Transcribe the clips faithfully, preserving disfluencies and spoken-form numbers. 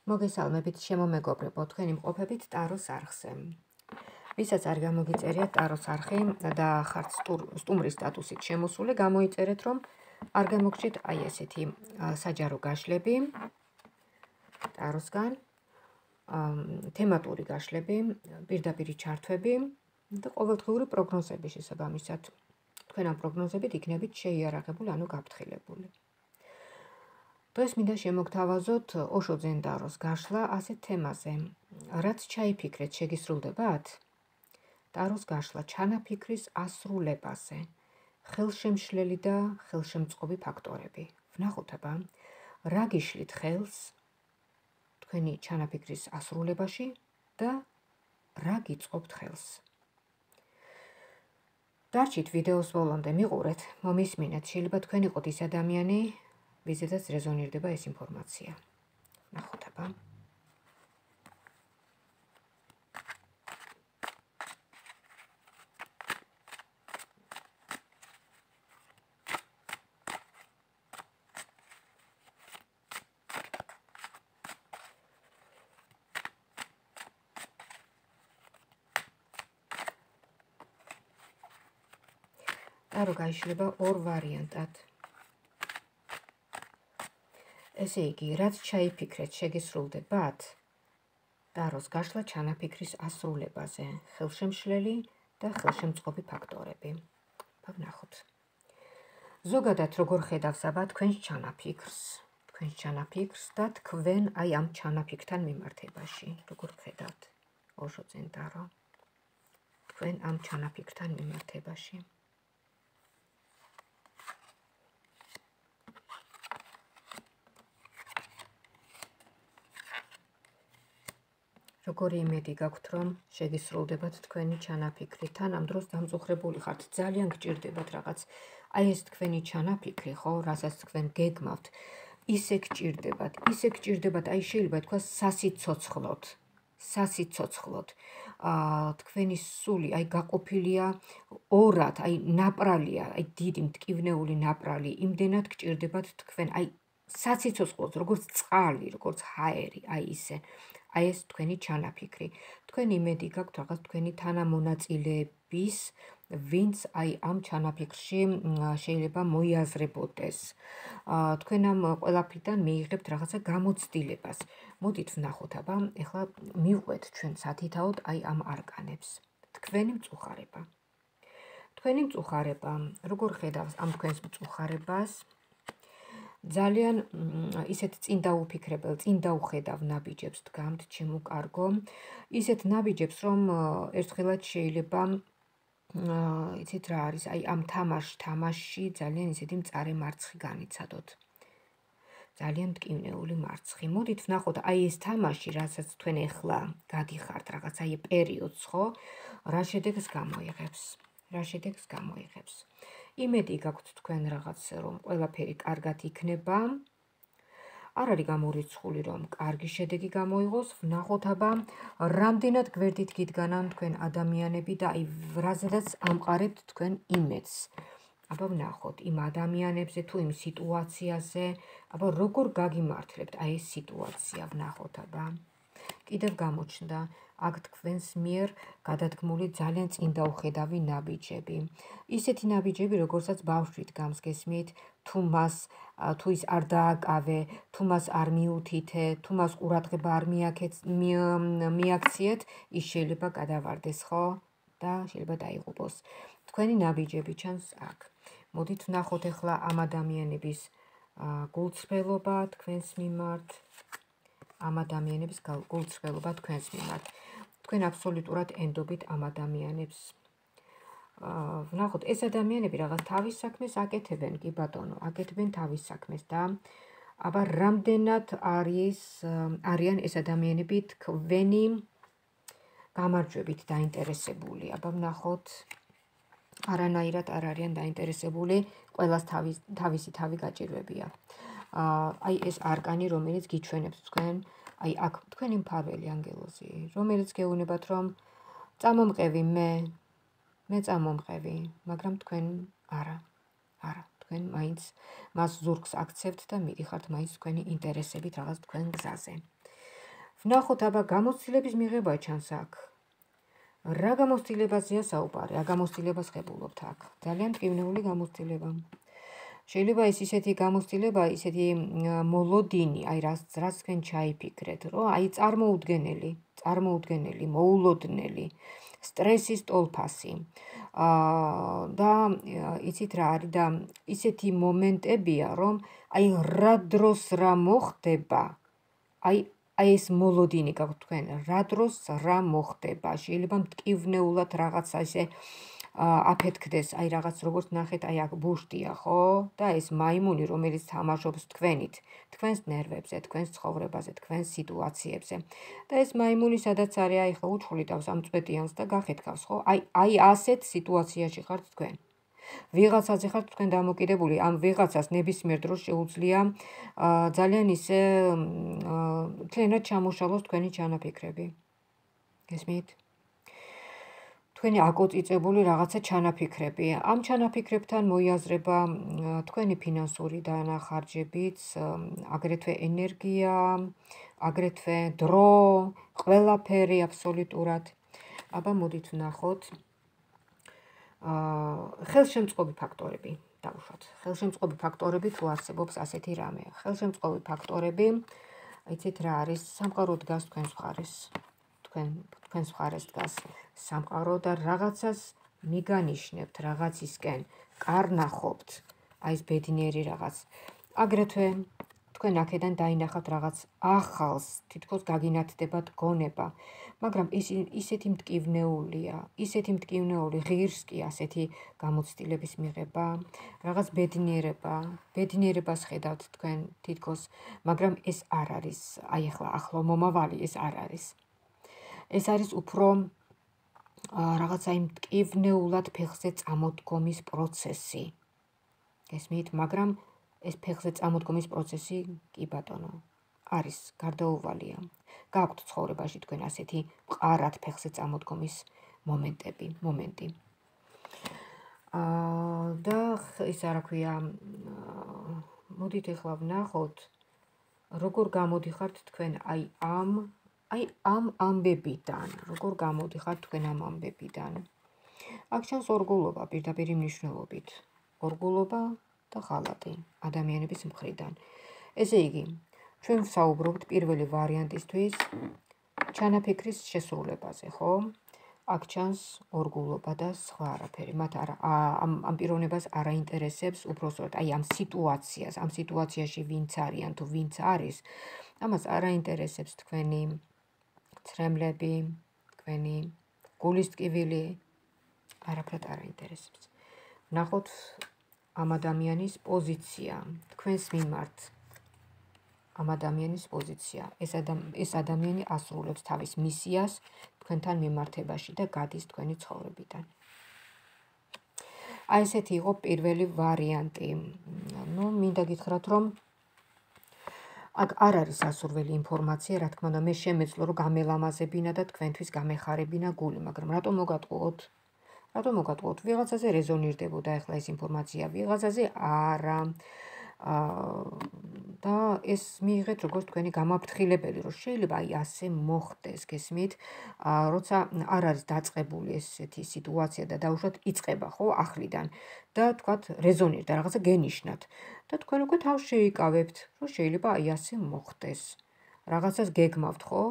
მოგესალმებით შემომეგობრებო, თქვენი მყოფებით ტაროს არხზე. ვისაც არ გამოგიწერიათ ტაროს არხი და ხართ სტუმრის სტატუსით შემოსული, გამოიწერეთ, რომ არ გამოგჭირთ აი ესეთი საჯარო გაშლები ტაროსგან, თემატური გაშლები, პირდაპირ ჩართვები და ყოველდღიური პროგნოზები შესაბამისად. თქვენ ამ პროგნოზებით იქნებით შეიარაღებული, ანუ გაფრთხილებული. დღეს მინდა შემოგთავაზოთ ოშო ძენდაროს გაშლა ასეთ თემაზე. რაც ჩაიფიქრეთ, შეგისრულდებათ? ტაროს გაშლა ჩანაფიქრის ასრულებაზე. ხელშემშლელი და ხელშემწყობი ფაქტორები. ვნახოთ აბა, რა გიშლით ხელს თქვენი ჩანაფიქრის ასრულებაში და რა გიწყობთ ხელს. დარჩით ვიდეოს ბოლომდე, მიყურეთ, მომისმინეთ, შეიძლება თქვენ იყოთ ის ადამიანი, ვიზედაც რეზონირდება ეს ინფორმაცია. ვნახოთ აბა. ტარო გაიშლება ორ ვარიანტად. ესე იგი, რაც ჩაიფიქრეთ, შეგისრულდებათ? ტაროს გაშლა ჩანაფიქრის ასრულებაზე, ხელშემშლელი და ხელშემწყობი ფაქტორები. ვნახოთ. ზოგადად როგორ ხედავს აბა თქვენს ჩანაფიქრს, თქვენს ჩანაფიქრს და თქვენ აი ამ ჩანაფიქრთან მიმართებაში, როგორ ხედავთ? ოშო ძენდარო. თქვენ ამ ჩანაფიქრთან მიმართებაში. როგორი იმედი გაქვთ, რომ შეგისრულდებათ თქვენი ჩანაფიქრი, თან ამ დროს დამწუხრებული ხართ, ძალიან გჭირდებათ რაღაც. აი ეს თქვენი ჩანაფიქრი, ხო, რასაც თქვენ გეგმავთ, ისე გჭირდებათ, ისე გჭირდებათ, აი შეიძლება თქვა სასიცოცხლოდ, სასიცოცხლოდ. აა თქვენი სული აი გაყოფილია ორად, აი ნაპრალია, აი დიდი მტკივნეული ნაპრალი, იმდენად გჭირდებათ თქვენ, აი სასიცოცხლოდ, როგორც წყალი, როგორც ჰაერი, აი ისე. აი ეს თქვენი ჩანაფიქრი. თქვენ იმედი გაქვთ რაღაც თქვენი თანამონაწილეების, ვინც აი ამ ჩანაფიქრში შეიძლება მოიაზრებოდეს. თქვენ ამ ყველაფრიდან მიიღებთ რაღაცა გამოცდილებას. მოდით ვნახოთ აბა, ეხლა მივყვეთ ჩვენ სათითაოდ აი ამ არკანებს. თქვენი მწუხარება. თქვენი მწუხარება, როგორ ხედავს ამ თქვენს მწუხარებას? ძალიან ისეთ წინ დაუფიქრებელ, წინ დაუხედავ ნაბიჯებს დგამთ, ჩემო კარგო. ისეთ ნაბიჯებს, რომ ერთხელაც შეიძლება, იცით რა არის, აი ამ თამაშ, თამაშში ძალიან ისეთი მწარე მარცხი განიცადოთ. ძალიან მტკივნეული მარცხი. მოდით ვნახოთ, აი ეს თამაში, რასაც თქვენ ეხლა გადიხართ, რაღაც აი პერიოდს, ხო? რა შედეგს გამოიღებს? რა შედეგს გამოიღებს? იმედი გაქვთ თქვენ რაღაც, რომ ყველაფერი კარგად იქნება. არ არის გამორიცხული, რომ კარგი შედეგი გამოიღოს. ვნახოთ აბა, რამდენად გვერდით გიდგანან თქვენ ადამიანები და აი რაზედაც ამყარებთ თქვენ იმედს. აბა ვნახოთ იმ ადამიანებზე თუ იმ სიტუაციაზე, აბა როგორ გაგიმართლებთ აი ეს სიტუაცია, ვნახოთ აბა. კიდევ გამოჩნდა აქ თქვენს მიერ გადადგმული ძალიან წინ დაუხედავი ნაბიჯები. ისეთი ნაბიჯები, როგორცაც ბავშვი დგამს, გესმით, თუ მას, თუ ის არ დააკავე, თუ მას არ მიუთითე, თუ მას ყურადღება არ მიაქციეთ, ის შეიძლება გადავარდეს, ხო? და შეიძლება დაიღუპოს. თქვენი ნაბიჯები ჩანს აქ. მოდით ვნახოთ ეხლა ამ ადამიანების გულწრფელობა თქვენს მიმართ. ამ ადამიანების გულწრფელობა თქვენს მიმართ. თქვენ აბსოლუტურად ენდობით ამ ადამიანებს. ვნახოთ, ეს ადამიანები რაღაც თავის საქმეს აკეთებენ, კი ბატონო, აკეთებენ თავის საქმეს და აბა რამდენად არის არიან ეს ადამიანები თქვენი გამარჯვებით დაინტერესებული. აბა ვნახოთ, არანაირად არ არიან დაინტერესებული, ყველას თავისი თავი გაჭირვებია. აი ეს არკანი, რომელიც გიჩვენებს თქვენ, აი აქ თქვენი მფარველი ანგელოზი, რომელიც გეუბნებათ, რომ წამომყევი მე, მე წამომყევი, მაგრამ თქვენ არა, არა, თქვენ მაინც მას ზურგს აქცევთ და მიდიხართ მაინც თქვენი ინტერესებით რაღაც თქვენ გზაზე. ვნახოთ აბა გამოცდილების მიღება ჩანს აქ. რა გამოცდილებაზეა საუბარი? რა გამოცდილებას ხებულობთ აქ? ძალიან მტკივნეული გამოცდილება. შეიძლება ეს ისეთი გამოცდილება, ისეთი მოლოდინი, აი რაც რაც თქვენ ჩაიფიქრეთ, რომ აი წარმოუდგენელი, წარმოუდგენელი, მოულოდნელი, სტრესის ტოლფასი. აა და იცით რა არის და ისეთი მომენტებია, რომ აი რა დროს რა მოხდება, აი აი ეს მოლოდინი გაქვთ თქვენ, რა დროს რა მოხდება, შეიძლება მტკივნეულად რაღაცა ისე აფეთქდეს, აი რაღაც როგორც ნახეთ, აი აქ ბუშტია, ხო? და ეს მაიმუნი, რომელიც თამაშობს თქვენით, თქვენს ნერვებზე, თქვენს ცხოვრებაზე, თქვენს სიტუაციებზე. და ეს მაიმუნი სადაც არის, აი ხო უჩხვლიტავს ამ წვეტიანს და გახეთქავს, ხო? აი აი ასეთ სიტუაციაში ხართ თქვენ. ვიღაცაზე ხართ თქვენ დამოკიდებული, ამ ვიღაცას ნებისმიერ დროს შეუძლია ძალიან ისე მთლიანად ჩამოშალოს თქვენი ჩანაფიქრები. გესმით? თქვენი აკოწიწებული რაღაცა ჩანაფიქრები. ამ ჩანაფიქრებთან მოიაზრება თქვენი ფინანსური დანახარჯებიც, აგრეთვე ენერგია, აგრეთვე დრო, ყველაფერი აბსოლუტურად. აბა მოდით ვნახოთ. ხელშემწყობი ფაქტორები დავუშვათ. ხელშემწყობი ფაქტორები თუ არსებობს ასეთი რამე. ხელშემწყობი ფაქტორები, იცით რა არის? სამყარო დგას თქვენს მხარეს. თქვენ თქვენს მხარეს დგას სამყარო და რაღაცას მიგანიშნებთ, რაღაცისკენ კარნახობთ, აი ეს ბედნიერი რაღაც. აგრეთვე თქვენ აქედან დაინახავთ რაღაც ახალს, თითქოს გაგინათდებათ გონება, მაგრამ ის ისეთი მტკივნეულია, ისეთი მტკივნეული ღირს კი ასეთი გამოცდილების მიღება, რაღაც ბედნიერება, ბედნიერებას ხედავთ თქვენ თითქოს, მაგრამ ეს არ არის, აი ახლა ახლო მომავალი ეს არ არის. ეს არის უფრო რაღაცა იმ მტკივნეულად ფეხზე წამოდგომის პროცესი. გესმით, მაგრამ ეს ფეხზე წამოდგომის პროცესი კი ბატონო არის გარდაუვალია. გაქვთ ცხოვრებაში თქვენ ასეთი მყარად ფეხზე წამოდგომის მომენტები, მომენტი. აა და ის რა ქვია, მოდით ახლა ვნახოთ, როგორ გამოდიხართ თქვენ აი ამ აი ამ ამბებიდან, როგორ გამოდიხართ თქვენ ამ ამბებიდან. აქ ჩანს ორგულობა პირდაპირი მნიშვნელობით. ორგულობა და ღალატი ადამიანების მხრიდან. ესე იგი, ჩვენ ვსაუბრობთ პირველი ვარიანტისთვის ჩანაფიქრის შესრულებაზე, ხო? აქ ჩანს ორგულობა და სხვა არაფერი. მათ არა ამ ამ პიროვნებას არ აინტერესებს უბრალოდ აი ამ სიტუაციას, ამ სიტუაციაში ვინც არიან თუ ვინც არის, ამას არ აინტერესებს თქვენი ცრემლები, თქვენი გულის ტკივილი, არაფრად არ აინტერესებს. ვნახოთ ამ ადამიანის პოზიცია, თქვენს მიმართ. ამ ადამიანის პოზიცია. ეს ეს ადამიანი ასრულებს თავის მისიას თქვენთან მიმართებაში და გადის თქვენი ცხოვრებიდან. აი ესეთი იყო პირველი ვარიანტი. ნუ მინდა გითხრათ, რომ აქ არ არის ასურველი ინფორმაცია, რა თქმა უნდა, მე შემეძლო რომ გამელამაზებინა და თქვენთვის გამეხარებინა გული, მაგრამ რატომ მოგატყუოთ? რატომ მოგატყუოთ? ვიღაცაზე რეზონირდებოდა ახლა ეს ინფორმაცია, ვიღაცაზე არა. და ეს მიიღეთ როგორც თქვენი გამაფრთხილებელი, რომ შეიძლება აი ასე მოხდეს, გესმით? როცა არ არის დაწყებული ესეთი სიტუაცია და დაუშვათ იწყება, ხო, ახლიდან და თქვათ რეზონირდა, რაღაცა გენიშნათ და თქვენ უკვე თავს შეიკავებთ, რომ შეიძლება აი ასე მოხდეს. რაღაცას გეგმავთ, ხო?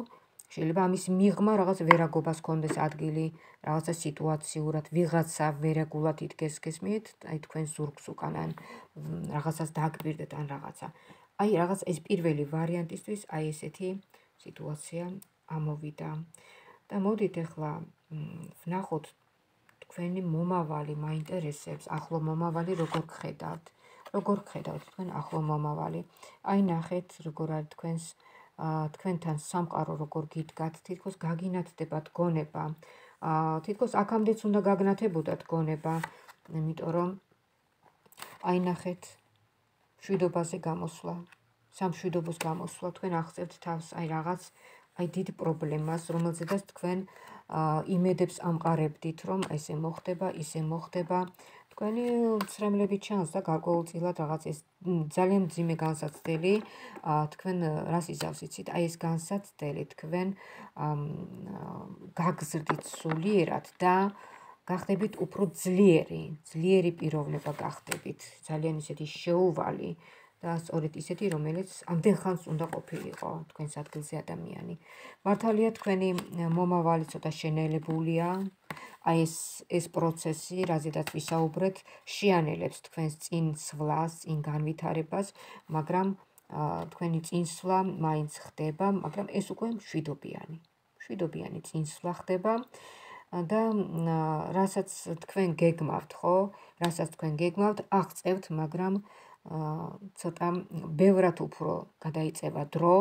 შეიძლება ამის მიღმა რაღაც ვერაგობას კონდეს ადგილი, რაღაცა სიტუაციურად, ვიღაცა ვერაგულად იდგეს, გესმით? აი თქვენ ზურგს უკან ან რაღაცას დააკვირდეთ ან რაღაცა. აი რაღაც ეს პირველი ვარიანტისთვის აი ესეთი სიტუაცია ამოვიდა. და მოდით ახლა ვნახოთ თქვენი მომავალი მაინტერესებს, ახლო მომავალი როგორ გხედავთ? როგორ გხედავთ თქვენ ახლო მომავალი? აი ნახეთ როგორ არის თქვენს თქვენთან სამყარო როგორ გიდგათ, თითქოს გაგინათდებათ გონება. თითქოს აქამდეც უნდა გაგნათებოდათ გონება, იმიტომ რომ აი ნახეთ მშვიდობაზე გამოსვლა, სამშვიდობოს გამოსვლა, თქვენ აღწევთ თავს აი რაღაც აი დიდ პრობლემას, რომელზედაც თქვენ იმედებს ამყარებდით, რომ ესე მოხდება, ისე მოხდება, თქვენი ცრემლები ჩანს და გარკვეულწილად რაღაც ეს ძალიან მძიმე განსაცდელი თქვენ რას იზავს იცით? აი ეს განსაცდელი თქვენ გაგზრდით სულიერად და გახდებით უფრო ძლიერი, ძლიერი პიროვნება გახდებით, ძალიან ისეთი შეუვალი და სწორედ ისეთი, რომელიც ამდენ ხანს უნდა ყოფილიყო თქვენს ადგილზე ადამიანი. მართალია თქვენი მომავალი ცოტა შენელებულია, აი ეს ეს პროცესი, რაზედაც ვისაუბრეთ, შეანელებს თქვენს წინსვლას, წინ განვითარებას, მაგრამ თქვენი წინსვლა მაინც ხდება, მაგრამ ეს უკვე მშვიდობიანი. მშვიდობიანი წინსვლა ხდება და რასაც თქვენ გეგმავთ, ხო? რასაც თქვენ გეგმავთ, აღწევთ, მაგრამ ცოტა ბევრად უფრო გადაიწევა დრო,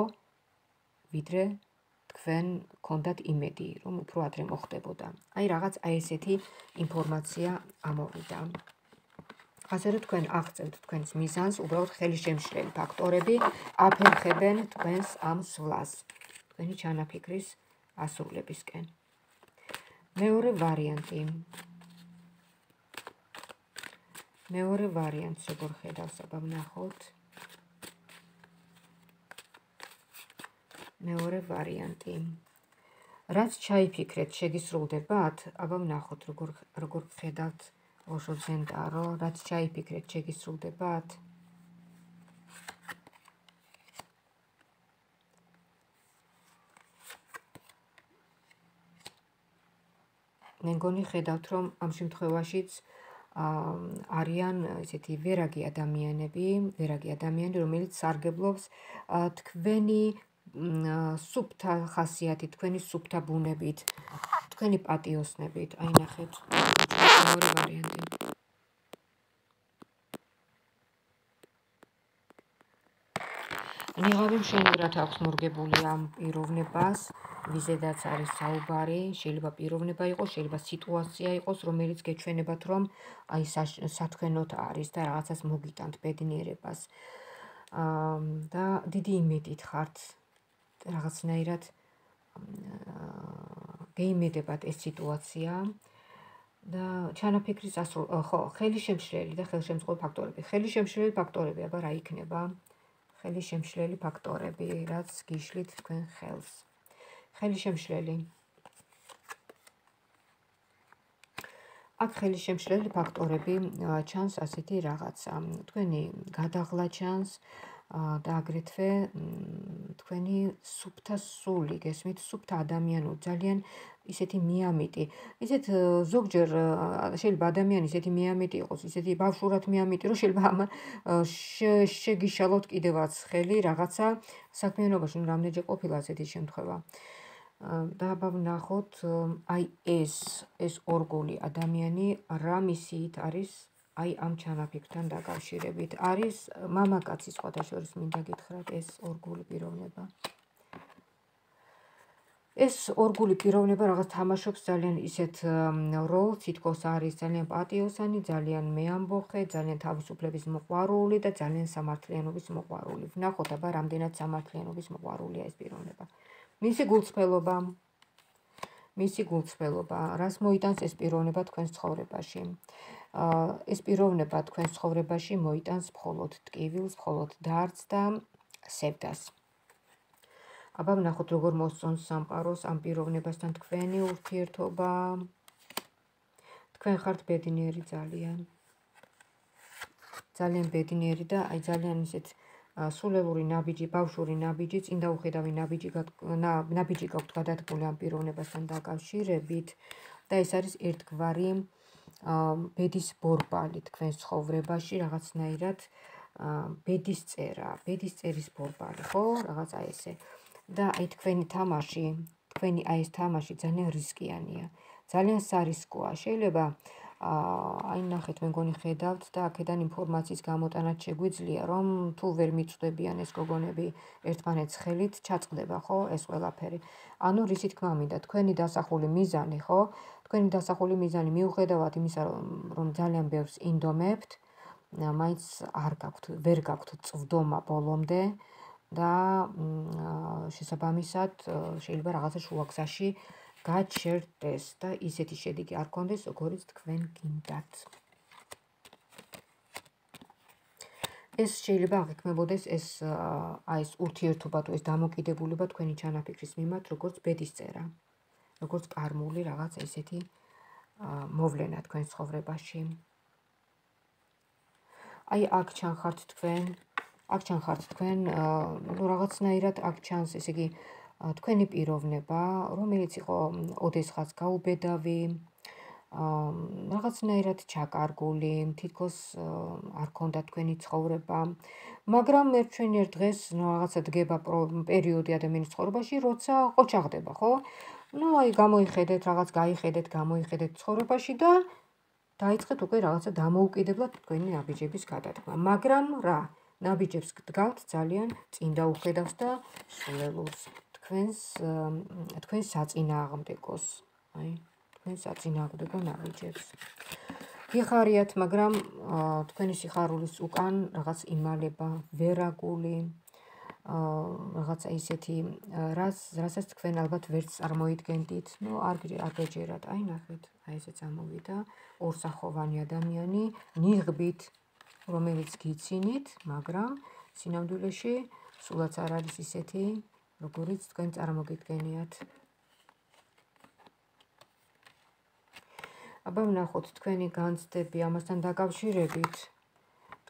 ვიდრე თქვენ გქონდათ იმედი, რომ უფრო ადრე მოხდებოდა. აი რაღაც აი ესეთი ინფორმაცია ამოვიდა. ასე რომ თქვენ აღწევთ თქვენს მიზანს, უბრალოდ ხელისშემშლელი ფაქტორები აფერხებენ თქვენს ამ სვლას, თქვენი ჩანაფიქრის ასრულებისკენ. მეორე ვარიანტი. მეორე ვარიანტს როგორ ხედავს, აბა ვნახოთ. მეორე ვარიანტი. რაც ჩაიფიქრეთ, შეგისრულდებათ? აბა ვნახოთ, როგორ როგორ ხედავთ ოშო ძენტარო, რაც ჩაიფიქრეთ, შეგისრულდებათ? მე მგონი ხედავთ, რომ ამ შემთხვევაშიც არიან ესეთი ვერაგი ადამიანები, ვერაგი ადამიანი, რომელიც სარგებლობს თქვენი სუფთა ხასიათით, თქვენი სუფთა ბუნებით, თქვენი პატიოსნებით. აი ნახეთ, მეორე ვარიანტი. ნიღავი მშვენივრად აქვს მორგებული ამ პიროვნებას, ვიზედაც არის საუბარი, შეიძლება პიროვნება იყოს, შეიძლება სიტუაცია იყოს, რომელიც გეჩვენებათ, რომ აი სათქვენოთ არის და რაღაცას მოგიტანთ ბედნიერებას. და დიდი იმედით ხართ, რაღაცნაირად გეიმედებათ ეს სიტუაცია და ჩანაფიქრის ასრულ, ხო, ხელისშემშლელი და ხელშემწყობი ფაქტორები. ხელისშემშლელი ფაქტორები, აბა რა იქნება? ხელისშემშლელი ფაქტორები, რაც გიშლით თქვენ ხელს. ხელისშემშლელი. აქ ხელისშემშლელი ფაქტორები ჩანს ასეთი რაღაცა. თქვენი გადაღლა ჩანს და აგრეთვე თქვენი სუფთა სული, გესმით, სუფთა ადამიანური, ძალიან ისეთი მიამიტი. ისეთ ზოგჯერ შეიძლება ადამიანი ისეთი მიამიტი იყოს, ისეთი ბავშვურად მიამიტი, რომ შეიძლება ამან შეგიშალოთ კიდევაც ხელი რაღაცა საქმიანობაში, ну რამდენჯერ ყოფილა ასეთი შემთხვევა. და აბა ვნახოთ, აი ეს ეს ორგული ადამიანი რა მისიით არის აი ამ ჩანაფიქრთან დაკავშირებით. არის მამაკაცი სხვათა შორის მინდა გითხრათ ეს ორგული პიროვნება. ეს ორგული პიროვნება რაღაც თამაშობს ძალიან ისეთ როლს, თითქოს არის ძალიან პატიოსანი, ძალიან მეამბოხე, ძალიან თავისუფლების მოყვარული და ძალიან სამართლიანობის მოყვარული. ვნახოთ აბა რამდენად სამართლიანობის მოყვარულია ეს პიროვნება. მისი გულწრფელობა, მისი გულწრფელობა, რას მოიტანს ეს პიროვნება თქვენს ცხოვრებაში? ეს პიროვნება თქვენს ცხოვრებაში მოიტანს მხოლოდ ტკივილს, მხოლოდ დარდს და სევდას. აბა ვნახოთ, როგორ მოსწონს სამყაროს ამ პიროვნებასთან თქვენი ურთიერთობა. თქვენ ხართ ბედნიერი ძალიან. ძალიან ბედნიერი და აი ძალიან ისეთ სულელური ნაბიჯი, ბავშვური ნაბიჯი, წინ დაუხედავი ნაბიჯი ნაბიჯი გაქვთ გადადგმული ამ პიროვნებასთან დაკავშირებით და ეს არის ერთგვარი ბედის ბორბალი თქვენს ცხოვრებაში, რაღაცნაირად ბედის წერა, ბედის წერის ბორბალი, ხო? რაღაცა ესე. და აი თქვენი თამაში, თქვენი აი ეს თამაში ძალიან რისკიანია. ძალიან სარისკოა. შეიძლება აი ნახეთ, მე მგონი ხედავთ და აქედან ინფორმაციის გამოტანაც შეგვიძლია, რომ თუ ვერ მიწვდებიან ეს გოგონები ერთმანეთს ხელით, ჩაწყდება, ხო, ეს ყველაფერი. ანუ რისი თქმა მინდა, თქვენი დასახული მიზანი, ხო? თქვენი დასახული მიზანი მიუხედავად იმისა, რომ ძალიან ბევრს ინდომებთ, მაინც არ გაქვთ, ვერ გაქვთ წვდომა ბოლომდე და შესაბამისად შეიძლება რაღაცა შუაგზაში გაჩერდეს და ისეთი შედეგი არ გქონდეს, როგორიც თქვენ გინდათ. ეს შეიძლება აღიქმებოდეს ეს აი ეს ურთიერთობა თუ ეს დამოკიდებულება თქვენი ჩანაფიქრის მიმართ, როგორც ბედისწერა, როგორც კარმული რაღაც ესეთი მოვლენა თქვენ ცხოვრებაში. აი აქ ჩანხართ თქვენ, აქ ჩანხართ თქვენ, ну რაღაცნაირად აქ ჩანს, ესე იგი, თქვენი პიროვნება, რომელიც იყო ოდესღაც გაუბედავი, რაღაცნაირად ჩაკარგული, თითქოს არ ქონდა თქვენი ცხოვრება, მაგრამ ერთვენიერ დღეს რაღაცა დგება პერიოდი ადამიანის ცხოვრებაში, როცა ყოჩაღდება, ხო? ну აი გამოიხედეთ, რაღაც გაიხედეთ, გამოიხედეთ ცხოვრებაში და დაიწყეთ უკვე რაღაცა დამოუკიდებლად თქვენი ნაბიჯების გადადგმა. მაგრამ რა, ნაბიჯებს გდგავთ ძალიან წინ დაუხედავს და სულელულს თქვენს თქვენს საწინააღმდეგოს, აი, თქვენს საწინააღმდეგო ნაბიჯებს. გიხარიათ, მაგრამ თქვენი სიხარულის უკან რაღაც იმალება, ვერაგული, რაღაცა ისეთი, რასაც თქვენ ალბათ ვერც წარმოიდგენდით, ну არ გეჯერათ, აი ნახეთ, აი ესე წამოვიდა ორსახოვანი ადამიანი, ნიღბით, რომელიც გიცინით, მაგრამ სინამდვილეში სულაც არ არის ისეთი, როგორიც თქვენ წარმოგიდგენიათ. აბა ვნახოთ თქვენი განცდები ამასთან დაკავშირებით,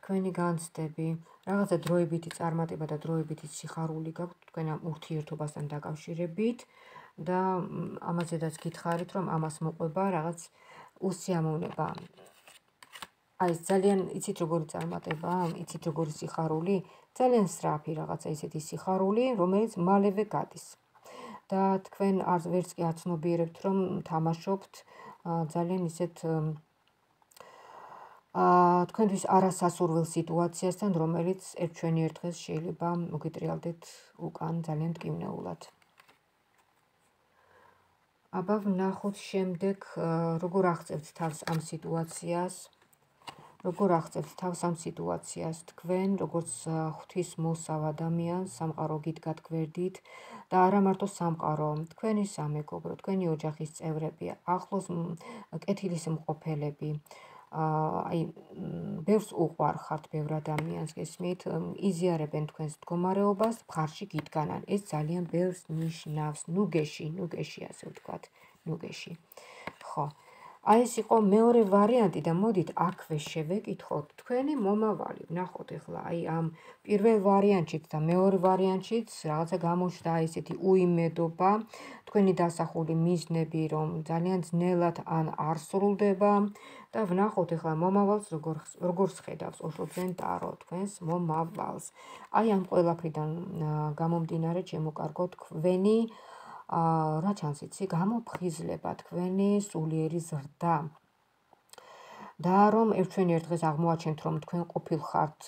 თქვენი განცდები, რაღაცა დროებითი წარმატება და დროებითი სიხარული გაქვთ თქვენ ამ ურთიერთობასთან დაკავშირებით და ამაზედაც გითხარით, რომ ამას მოყვება რაღაც უსიამოვნება. აი ეს ძალიან იცით როგორი წარმატება, იცით როგორი სიხარული, ძალიან სწრაფი რაღაცა ისეთი სიხარული, რომელიც მალევე გადის. და თქვენ არც ვერც კი აცნობიერებთ, რომ თამაშობთ ძალიან ისეთ თქვენთვის არასასურველ სიტუაციასთან, რომელიც ერთვენიერ დღეს შეიძლება მოგიტრიალდეთ უკან ძალიან მტკივნეულად. აბა ვნახოთ შემდეგ, როგორ აღწევთ თავს ამ სიტუაციას, როგორ აღწევთ თავს ამ სიტუაციას თქვენ, როგორც ღვთისმოსავ ადამიანს, სამყარო გიდგათ გვერდით და არა მარტო სამყარო, თქვენი სამეგობრო, თქვენი ოჯახის წევრები, ახლოს კეთილის მყოფელები, აი ბევრს უყვარხართ, ბევრ ადამიანს გესმით, იზიარებენ თქვენს მდგომარეობას, მხარში გიდგანან. ეს ძალიან ბევრს ნიშნავს, ნუგეში, ნუგეში ასე ვთქვათ, ნუგეში. ხო. აი ეს იყო მეორე ვარიანტი და მოდით აქვე შევეკითხოთ თქვენი მომავალი. ვნახოთ ახლა აი ამ პირველ ვარიანტშიც და მეორე ვარიანტშიც რაღაცა გამოჩნდა აი ესეთი უიმედობა, თქვენი დასახული მიზნები, რომ ძალიან ძნელად ან არ სრულდება და ვნახოთ ახლა მომავალს როგორ როგორ ხედავს ოშლობენ ტარო თქვენს მომავალს. აი ამ ყველაფრიდან გამომდინარე, ჩემო კარგო, თქვენი რა ჩანს იცი, გამოფხიზლება, თქვენი სულიერი ზრდა. და რომ ერთვენიერ დღეს აღმოაჩენთ, რომ თქვენ ყოფილხართ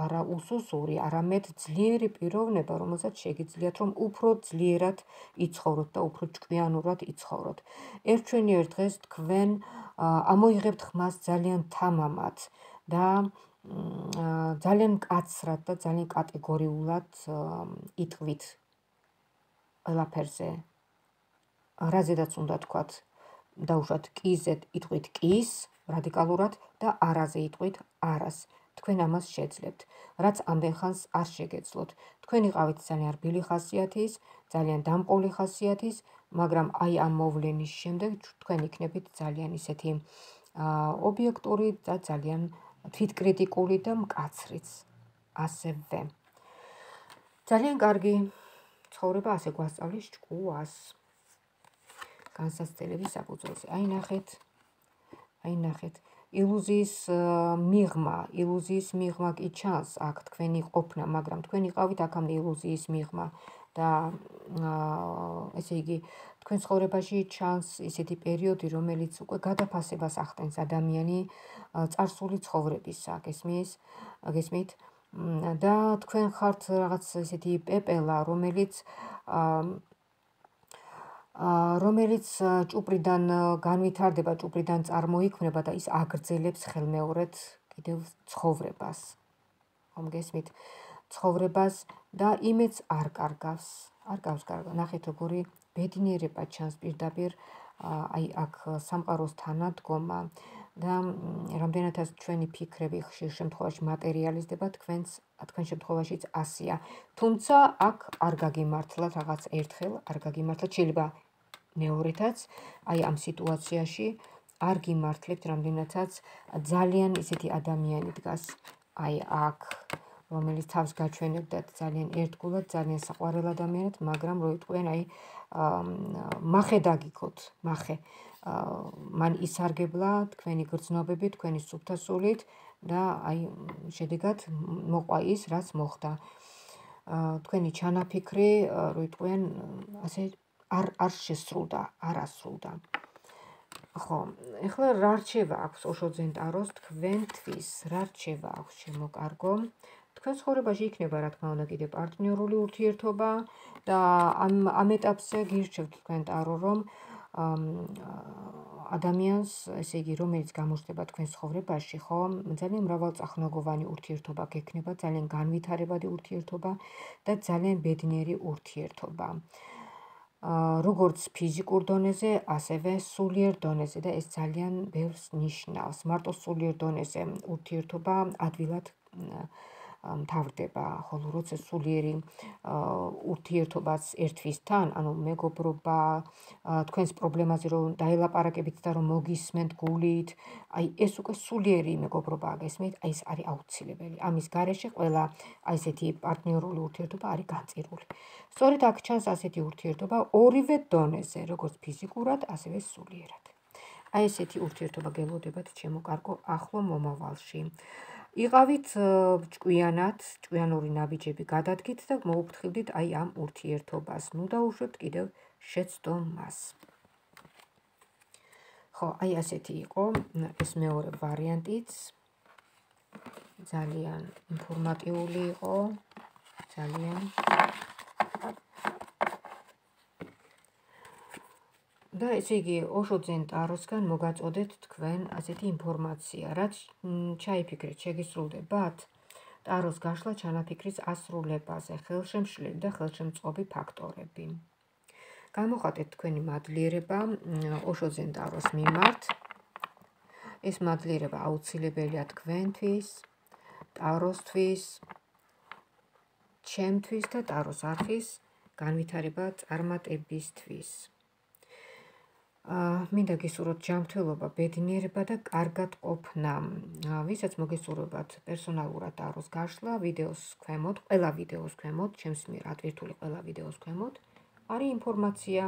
არა უსუსური, არამედ ძლიერი პიროვნება, რომელსაც შეგიძლიათ, რომ უფრო ძლიერად იცხოვროთ და უფრო ჭკვიანურად იცხოვროთ. ერთვენიერ დღეს თქვენ ამოიღებთ ხმას ძალიან თამამად და ძალიან მკაცრად და ძალიან კატეგორიულად იტყვით ყველაფერზე. რაზედაც უნდა თქვათ, დაუშვათ კიზე იტყვით კის, რადიკალურად და არაზე იტყვით არას. თქვენ ამას შეძლებთ, რაც ამდენ ხანს არ შეგეძლოთ. თქვენ იყავით ძალიან რბილი ხასიათის, ძალიან დამყოლი ხასიათის, მაგრამ აი ამ მოვლენის შემდეგ თქვენ იქნებით ძალიან ისეთი ობიექტური და ძალიან თვითკრიტიკული და მკაცრიც. ასევე. ძალიან კარგი ცხოვრება ასე გვასწავლის ჭკუას. განსაცდელების საფუძველზე. აი ნახეთ, აი ნახეთ, ილუზიის მიღმა, ილუზიის მიღმა კი ჩანს აქ თქვენი ყოფნა, მაგრამ თქვენ იყავით აქამდე ილუზიის მიღმა და ესე იგი, თქვენ ცხოვრებაში ჩანს ისეთი პერიოდი, რომელიც უკვე გადაფასებას ახდენს ადამიანი წარსული ცხოვრებისა, გესმის, გესმით? და თქვენ ხართ რაღაც ესეთი პეპელა, რომელიც რომელიც ჭუპრიდან განვითარდება, ჭუპრიდან წარმოიქმნება და ის აგრძელებს ხელმეორედ კიდევ ცხოვრებას. ხომ გესმით? ცხოვრებას და იმედს არ კარგავს. არ გავს კარგა. ნახეთ როგორი ბედნიერება ჩანს პირდაპირ აი აქ სამყაროს თანადგომა და რამდენადაც ჩვენი ფიქრები ხშირ შემთხვევაში მატერიალიზდება, თქვენს თქვენ შემთხვევაშიც ასია. თუმცა აქ არ გაგიმართლა რაღაც ერთხელ, არ გაგიმართლა, შეიძლება მეორეთაც, აი ამ სიტუაციაში არ გიმართლებთ, რამდენადაც ძალიან ისეთი ადამიანი დგას აი აქ, რომელიც თავს გაჩვენებდათ ძალიან ერთგულად, ძალიან საყვარელ ადამიანად, მაგრამ რო იტყვიან აი მახე დაგიქოთ, მახე. მან ისარგებლა თქვენი გრძნობები, თქვენი სუფთასულით და აი შედეგად მოყვა ის, რაც მოხდა. თქვენი ჩანაფიქრი, რო იტყვიან, ასე არ არ შესრულდა, არ ასრულდა. ხო, ეხლა რა რჩევა აქვს ოშოძენ ტაროს თქვენთვის, რა რჩევა აქვს ჩემო კარგო? თქვენ ცხოვრებაში იქნება, რა თქმა უნდა, კიდე პარტნიორული ურთიერთობა და ამ ამ ეტაპზე გირჩევთ თქვენ ტარო, რომ ადამიანს, ესე იგი, რომელიც გამოჩნდება თქვენ ცხოვრებაში, ხო, ძალიან მრავალწახნაგოვანი ურთიერთობა გექნება, ძალიან განვითარებადი ურთიერთობა და ძალიან ბედნიერი ურთიერთობა. როგორც ფიზიკურ დონეზე, ასევე სულიერ დონეზე და ეს ძალიან ბევრს ნიშნავს. მარტო სულიერ დონეზე ურთიერთობა ადვილად მთავრდება, ხოლო როცა სულიერი ურთიერთობაც ერთვისთან, ანუ მეგობრობა, თქვენს პრობლემაზე რომ დაელაპარაკებით და რომ მოგისმენთ გულით, აი ეს უკვე სულიერი მეგობრობაა, გესმით? აი ეს არის აუცილებელი. ამის გარეშე ყველა აი ესეთი პარტნიორული ურთიერთობა არის განწირული. სწორედ აქ ჩანს ასეთი ურთიერთობა ორივე დონეზე, როგორც ფიზიკურად, ასევე სულიერად. აი ესეთი ურთიერთობა გელოდებათ, ჩემო კარგო, ახლო მომავალში. იყავით ჭკვიანად, ჭკვიანური ნაბიჯები გადადგით და მოუფრთხილდით აი ამ ურთიერთობას. ნუ დაუშვებთ კიდევ შეცდომას. ხო, აი ასეთი იყო ეს მეორე ვარიანტიც. ძალიან ინფორმატიული იყო, ძალიან. და ესე იგი, ოშოძენ ტაროსგან მოგაწოდეთ თქვენ ასეთი ინფორმაცია, რაც ჩაიფიქრეთ, შეგისრულდებათ ტაროს გაშლა ჩანაფიქრის ასრულებაზე, ხელშემშლელი და ხელშემწყობი ფაქტორები. გამოხატეთ თქვენი მადლიერება ოშოძენ ტაროს მიმართ. ეს მადლიერება აუცილებელია თქვენთვის, ტაროსთვის, ჩემთვის და ტაროს არხის განვითარება წარმატებისთვის. მინდა გისურვოთ ჯანმრთელობა, ბედნიერება და კარგად ყოფნა. ვისაც მოგესურვებათ პერსონალურად ტაროს გაშლა, ვიდეოს ქვემოთ, ყველა ვიდეოს ქვემოთ, ჩემს მიერ ატვირთული ყველა ვიდეოს ქვემოთ, არის ინფორმაცია,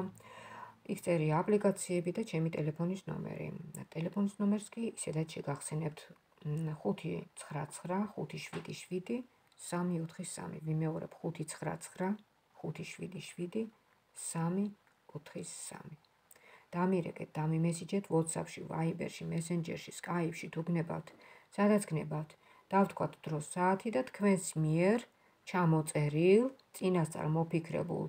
იქ წერია აპლიკაციები და ჩემი ტელეფონის ნომერი. ტელეფონის ნომერს კი ისედაც შეგახსენებთ ხუთი ცხრა ცხრა ხუთი შვიდი შვიდი სამი ოთხი სამი. ვიმეორებ ხუთი ცხრა ცხრა ხუთი შვიდი შვიდი სამი ოთხი სამი. დამირეკეთ, დამიმესიჯეთ WhatsApp-ში, Viber-ში, Messenger-ში, Skype-ში თუ გნებავთ, სადაც გნებავთ, დავთქვათ დრო საათი და თქვენს მიერ ჩამოწერილ, წინასწარ მოფიქრებულ,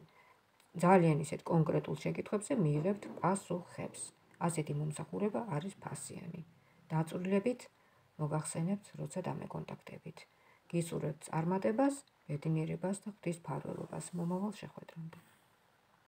ძალიან ისეთ კონკრეტულ შეკითხვებზე მიიღებთ პასუხებს. ასეთი მომსახურება არის ფასიანი. დაწვრილებით მოგახსენებთ, როცა დამეკონტაქტებით. გისურვებთ წარმატებას, ბედნიერებას და ღვთის მფარველობას. მომავალ შეხვედრამდე.